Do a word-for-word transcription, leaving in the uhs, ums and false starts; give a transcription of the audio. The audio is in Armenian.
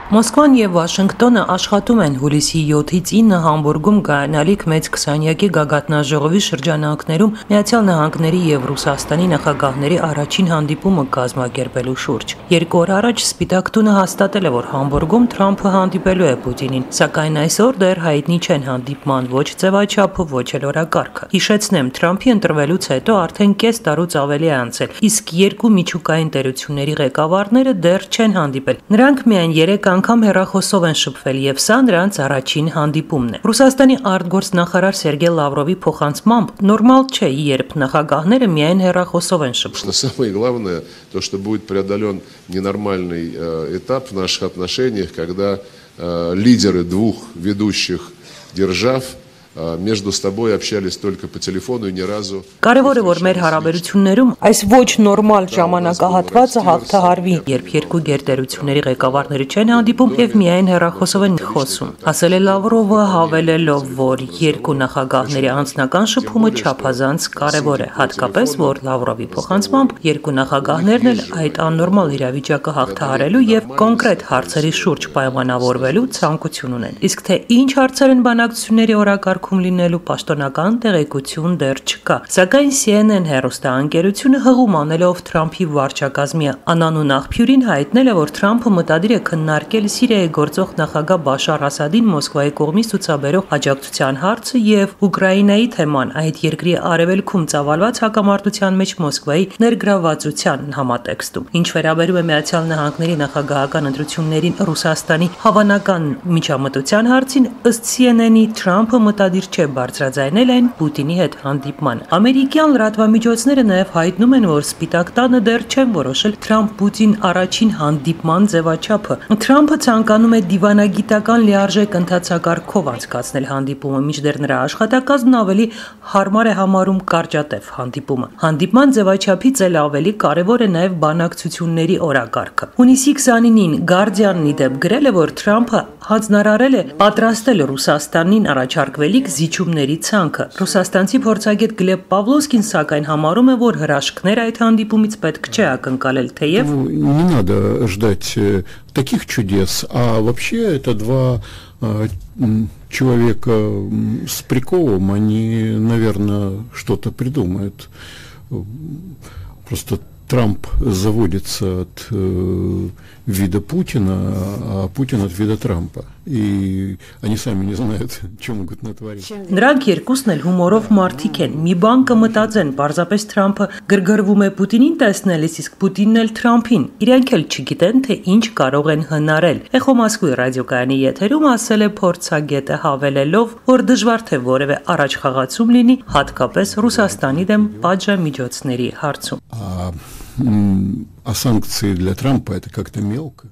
Մոսկվան եւ Վաշինգտոնը աշխատում են հուլիսի յոթից ինը Համբուրգում կայանալիք մեծ քսանյակի գագաթնաժողովի շրջանակներում Միացյալ Նահանգների եւ Ռուսաստանի նախագահների առաջին հանդիպումը կազմակերպելու շուրջ։ Երկու օր առաջ Սպիտակ տունը հաստատել է, որ Համբուրգում Թրամփը հանդիպելու է Պուտինին, սակայն այսօր դեռ հայտնի չեն հանդիպման ոչ ձևաչափը, ոչ էլ օրակարգը։ Հիշեցնեմ, Թրամփի ընտրվելուց հետո արդեն կես տարուց ավելի է անցել, իսկ երկու միջուկային տերությունների ղեկավարները դեռ չեն հանդիպել։ Նրանք միայն երեք անգամ հեռախոսով են շփվել եւ սա նրանց առաջին հանդիպումն է։ Ռուսաստանի արտգործնախարար Սերգեյ Լավրովի փոխանցմամբ նորմալ չէ, երբ նախագահները միայն հեռախոսով են շփվում։ Самое главное, то, что будет преодолен ненормальный этап в наших отношениях, когда лидеры двух ведущих держав между собой общались только по телефону и ни разу. Կարևորը որ մեր հարաբերություններում այս ոչ նորմալ ժամանակահատվածը հաղթահարվի, երբ երկու գերտերությունների ղեկավարները չեն հանդիպում եւ միայն հեռախոսով են խոսում։ Ասել է Լավրովը, հավելելով, որ երկու նախագահների անձնական շփումը չափազանց կարևոր է, հատկապես որ Լավրովի փոխանցմամբ երկու նախագահներն էլ այդ աննորմալ իրավիճակը հաղթահարելու եւ կոնկրետ հարցերի շուրջ պայմանավորվելու ցանկություն ունեն։ Իսկ թե ինչ հարցեր են բանակցությունների օրակարգ լինելու պաշտոնական տեղեկություն դեռ չկա, սակայն C N N հեռուստաընկերությունը հղում անելով Թրամփի վարչակազմի անանուն աղբյուրին հայտնել է, որ Թրամփը մտադիր է քննարկել Սիրիայի գործող նախագահ Բաշար Ասադին Մոսկվայի կողմից ցուցաբերող աջակցության հարցը եւ Ուկրաինայի թեման, այդ երկրի արևելքում ծավալված հակամարտության մեջ Մոսկվայի ներգրավվածության համատեքստում։ Ինչ վերաբերում է Միացյալ Նահանգների նախագահական ընտրություններին Ռուսաստանի հավանական միջամտության հարցին, ըստ C N N-ի Թրամփը մտադիր չէ բարձրաձայնել այն Պուտինի հետ հանդիպման։ Ամերիկյան լրատվամիջոցները նաև հայտնում են, որ Սպիտակ տանը դեռ չեն որոշել Թրամփ-Պուտին առաջին հանդիպման ձևաչափը։ Թրամփը ցանկանում է դիվանագիտական լիարժեք ընթացակարգով անցկացնել հանդիպումը, մինչդեռ նրա աշխատակազմն ավելի հարմար է համարում կարճատև հանդիպումը։ Հանդիպման ձևաչափից էլ ավելի կարևոր է նաև բանակցությունների օրակարգը։ Հունիսի քսանինին Guardian-ի դեպ գրել է, որ Թրամփը հանձնարարել է պատրաստել Ռուսաստանին առաջարկվելիք զիջումների ցանկը։ Ռուսաստանցի փորձագետ Գլեբ Պավլովսկին սակայն համարում է, որ հրաշքներ այդ հանդիպումից պետք չէ ակնկալել, թեև не надо ждать таких чудес, а вообще это два человека с приколом, они, наверное, что-то придумают. Просто Трамп заводится от э, вида Путина, а Путин от вида Трампа. И они сами не знают, что могут натворить. Նրանք երկուսն էլ հումորով մարդիկ են։ Մի բան կմտածեն, պարզապես Թրամփը գրգռվում է Պուտինին տեսնելիս, իսկ Պուտինն էլ Թրամփին։ Իրենք էլ չգիտեն, թե ինչ կարող են հնարել։ Էխո Մոսկվի ռադիոկայանի եթերում ասել է փորձագետը, հավելելով, որ дժվար թե որևէ առաջխաղացում լինի, հատկապես Ռուսաստանի դեմ պատժամիջոցների հարցում։ А санкции для Трампа это как-то мелко.